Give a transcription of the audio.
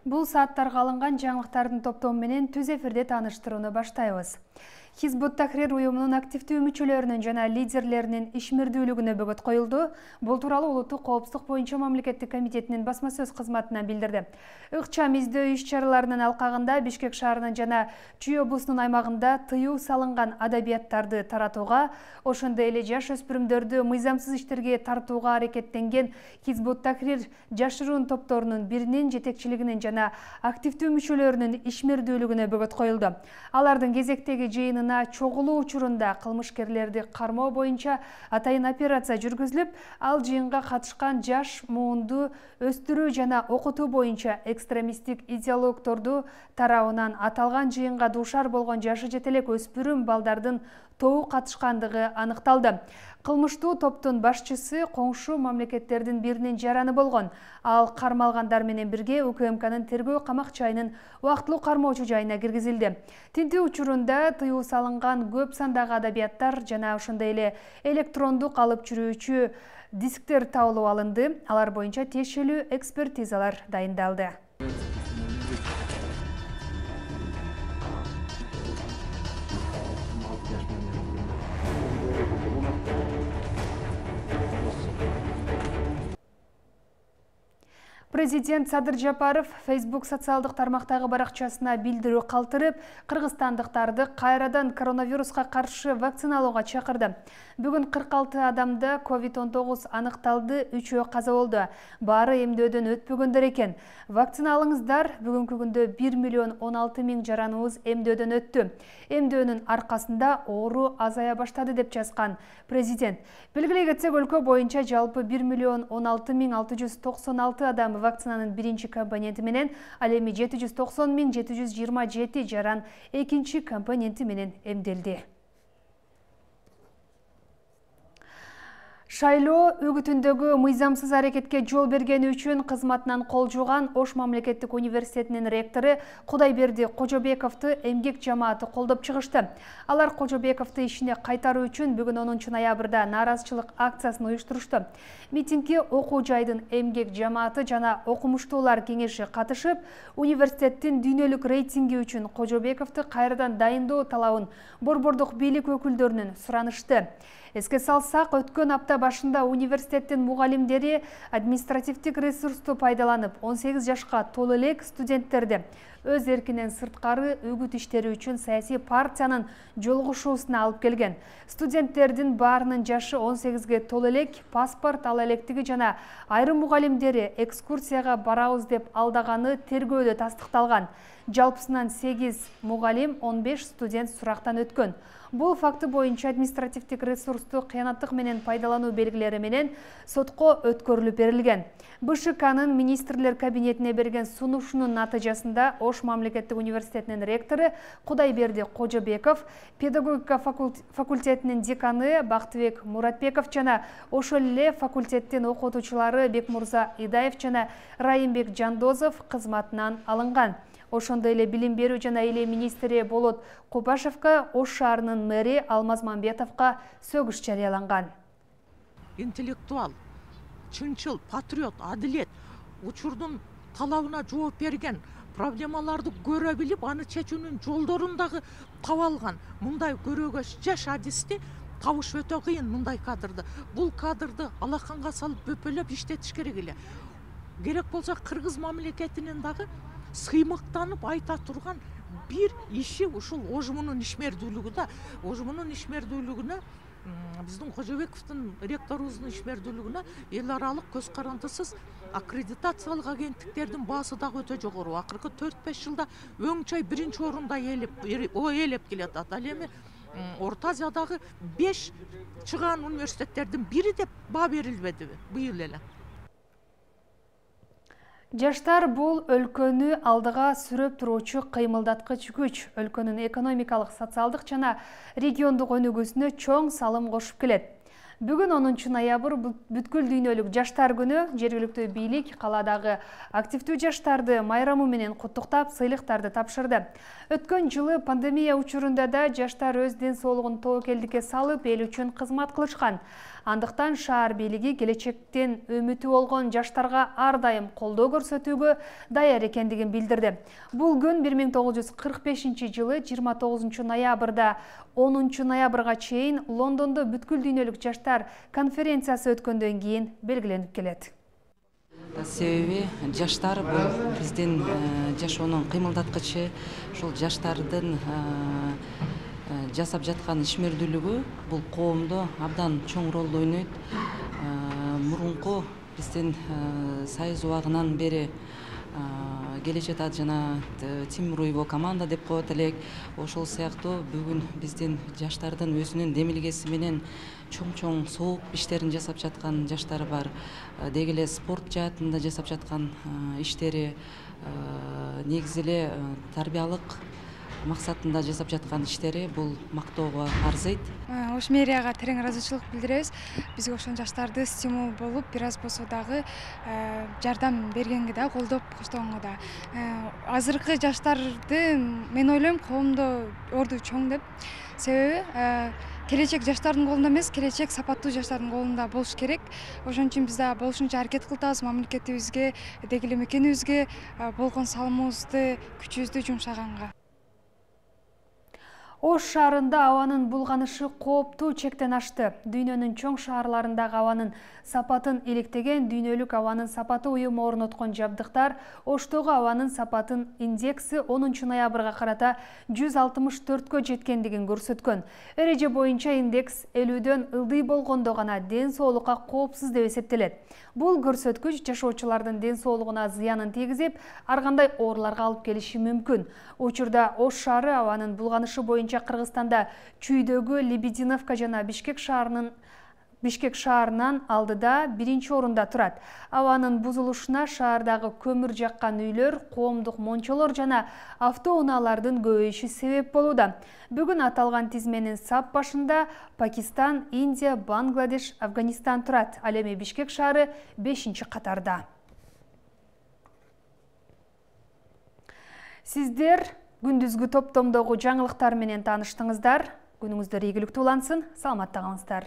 Бул сааттарга алынган жаңылыктардын топтому менен түз эфирде тааныштырууну баштайбыз. Хизбут Тахрир уюмунун активдүү мүчөлөрүнүн жана лидерлеринин ишмердүүлүгүнө бөгөт коюлду. Бул тууралуу Улуттук коопсуздук боюнча мамлекеттик комитетинин басма сөз кызматынан билдирди. Ыкчам издөө иш-чараларынын алкагында Бишкек шаарынын жана Чүй облусунун аймагында тыюу салынган адабияттарды таратууга, ошондой эле жаш өспүрүмдөрдү мыйзамсыз иштерге тартууга аракеттенген Хизбут Тахрир жашыруун топторунун биринин жетекчилигинин жана активдүү мүчөлөрүнүн ишмердүүлүгүнө бөгөт коюлду. Алардын кезектеги жыйынына чогулуу учурунда кылмышкерлерди кармоо боюнча атайын операция жүргүзүлүп, ал жыйынга катышкан жаш муунду өстүрүү жана окутуу боюнча экстремисттик идеологторду тарабынан аталган жыйынга дуушар болгон жашы жете элек өспүрүм балдардын тобу катышкандыгы аныкталды. Кылмыштуу топтун башчысы коңшу мамлекеттердин биринин жараны болгон. Ал кармалгандар менен бирге УКМКнын тергөө камак жайынын убактылуу кармоочу жайына киргизилди. Тинтүү учурунда тыюу салынган көп сандагы адабияттар жана ошондой эле электрондук алып жүрүүчү дисктер табылып алынды. Алар боюнча тиешелүү экспертизалар дайындалды. Президент Садыр Жапаров Facebook социалдык тармактагы баракчасына билдирүү калтырып, кыргызстандыктарды кайрадан коронавируска каршы вакциналууга чакырды. Бүгүн 46 адамда COVID-19 аныкталды, 3-өө каза болду. Баары эмдөөдөн өтпөгөндөр экен. Вакцина алыңыздар, бүгүнкү күндө 1 миллион 16 миң жараныбыз эмдөөдөн өттү. Эмдөөнүн аркасында оору азая баштады деп жазган президент. Белгилей кетсек, өлкө боюнча жалпы 1 миллион 16 миң 696 адам вакцинанын биринчи компоненти менен, ал эми 790 миң 727 жаран экинчи компоненти менен эмделди. Шайлоо үгүтүндөгү мыйзамсыз аракетке жол бергени үчүн кызматынан кол жууган Ош мамлекеттик университетинин ректору Кудайберди Кожобековду эмгек жамааты колдоп чыгышты. Алар Кожобековду ишине кайтаруу үчүн бүгүн 10 ноябрда нааразычылык акциясын уюштурушту. Митингге окуу жайдын эмгек жамааты жана окумуштуулар кеңеши катышып, университеттин дүйнөлүк рейтинги үчүн Кожобековду кайрадан дайындоо талабын борбордук бийлик өкүлдөрүнөн суранышты. Эске салсак, өткөн апта башында университеттин мугалимдери административдик ресурсту пайдаланып 18 жашка толо элек студенттерди өз эркинен сырткары үгүт иштери үчүн саясий партиянын жолугушуусуна алып келген. Студенттердин баарынын жашы 18ге толо элек, паспорт ала электиги жана айрым мугалимдери экскурсияга барабыз деп алдаганы тергөөдө тастыкталган. Жалпысынан 8 мугалим, 15 студент сурактан өткөн. Бул факты боюнча административдик ресурсту кыянаттык менен пайдалануу белгилери менен сотко өткөрүлүп берилген. БШКнын министрлер кабинетине берген сунушунун натыйжасында Ош мамлекеттик университетинин ректору Кудайберди Кожобеков, педагогика факультетинин деканы Бактыбек Муратбеков жана ошол эле факультеттин окутуучулары Бекмурза Идаев жана Райымбек Жандозов кызматынан алынган. Ошондой эле билим берүү жана эле министри Болот Копашевка, Ош шаарынын мэри Алмаз Мамбетовго сөгүш жарыяланган. Интеллектуал, чынчыл, патриот, адилет, учурдун талабына жооп берген, проблемаларды көрө билип, аны чечүүнүн жолдорун дагы таба алган. Мындай көрөгө жаш адисти табыш өтө кыйын мындай кадрды. Бул кадрды алаканга салып бөпөлөп иштетиш керек эле. Керек болсо кыргыз мамлекетинин дагы сыймыктанып айта турган бир иши ушул ожмунун ишмердүүлүгү да. Ожмунун ишмердүүлүгүнө, биздин Кожобековдун ректорубуздун ишмердүүлүгүнө эл аралык көз карандысыз аккредитациялык агенттиктердин баасы дагы өтө жогору. Акыркы 4-5 жылда өң чай биринчи орунда ээлеп келатат. Ал эми Орто Азиядагы 5 чыгаан университеттердин бири деп баа берилбедиби быйыл эле? Жаштар бул өлкөнү алдыга сүрөп туруучу кыймылдаткыч күч. Өлкөнүн экономикалык, социалдык жана региондук өнүгүүсүнө чоң салым кошуп келет. Бүгүн 10 ноябрь бүткүл дүйнөлүк жаштар күнү. Жергиликтүү бийлик каладагы активдүү жаштарды майрамы менен куттуктап, сыйлыктарды тапшырды. Өткөн жылы пандемия учурунда да жаштар өз ден соолугун тобокелдикке салып, эл үчүн кызмат кылышкан. Андыктан шаар бийлиги келечектен үмүтү болгон жаштарга ар дайым колдоо көрсөтүүгө даяр экендигин билдирди. Бул күн 1945-жылы 29 ноябрда 10 ноябрга чейин Лондондо бүткүл дүйнөлүк жаштар конференциясы өткөндөн кийин белгиленип келет. Себеби жаштар бул биздин жашоонун кыймылдаткычы, ушул жаштардын жасап жаткан ишмердүүлүгү бул коомдо абдан чоң ролду ойнойт. Мурунку биздин Союз убагынан бери келе жатат жана Тимур Уйбо команда деп коет элек. Ошол сыяктуу бүгүн биздин жаштардын өзүнүн демилгеси менен чоң сооп иштерин жасап жаткан жаштар бар. Деги эле спорт жаатында жасап жаткан иштери, негизи эле тарбиялык максатында жасап жаткан иштери бул мактоого арзыйт. Ош мэрияга терең ыраазычылык билдиребиз. Бизге ошол жаштарды стимул болуп, бир аз болсо дагы жардам бергенге да, колдоп коштогонго да. Азыркы жаштарды мен ойлойм коомдо орду чоң деп. Себеби келечек жаштардын колунда эмес, келечек сапаттуу жаштардын колунда болуш керек. Ошон үчүн биз да болушунча аракет кылтабыз мамлекетибизге, деги эле мекенибизге болгон салымыбызды, күчүбүздү жумшаганга. Ош шаарында абанын булганышы кооптуу чектен ашты. Дүйнөнүн чоң шаарларындагы абанын сапатын иликтеген дүйнөлүк абанын сапаты уюму орноткон жабдыктар Оштогу абанын сапатын индекси 10 ноябрга карата 164кө жеткендигин көрсөткөн. Эреже боюнча индекс 50дөн ылдый болгондо гана ден соолукка коопсуз деп эсептелет. Бул көрсөткүч жашоочулардын ден соолугуна зыянын тийгизип, ар кандай ооруларга алып келиши мүмкүн. Учурда Ош шаары абанын булганышы боюнча Кыргызстанда чүйдөгү Лебединовка жана Бишкек шаарынан алдыда биринчи орунда турат. Абанын бузулушуна шаардагы көмүр жаккан үйлөр, коомдук мончолор жана автоунаалардын көбөйүшү себеп болууда. Бүгүн аталган тизменин сап башында Пакистан, Индия, Бангладеш, Афганистан турат. Ал эми Бишкек шаары 5-катарда. Сиздер күндүзгү топтомдогу жаңылыктар менен тааныштыңыздар. Күнүңүздөр ийгиликтүү улансын, саламатта калыңыздар.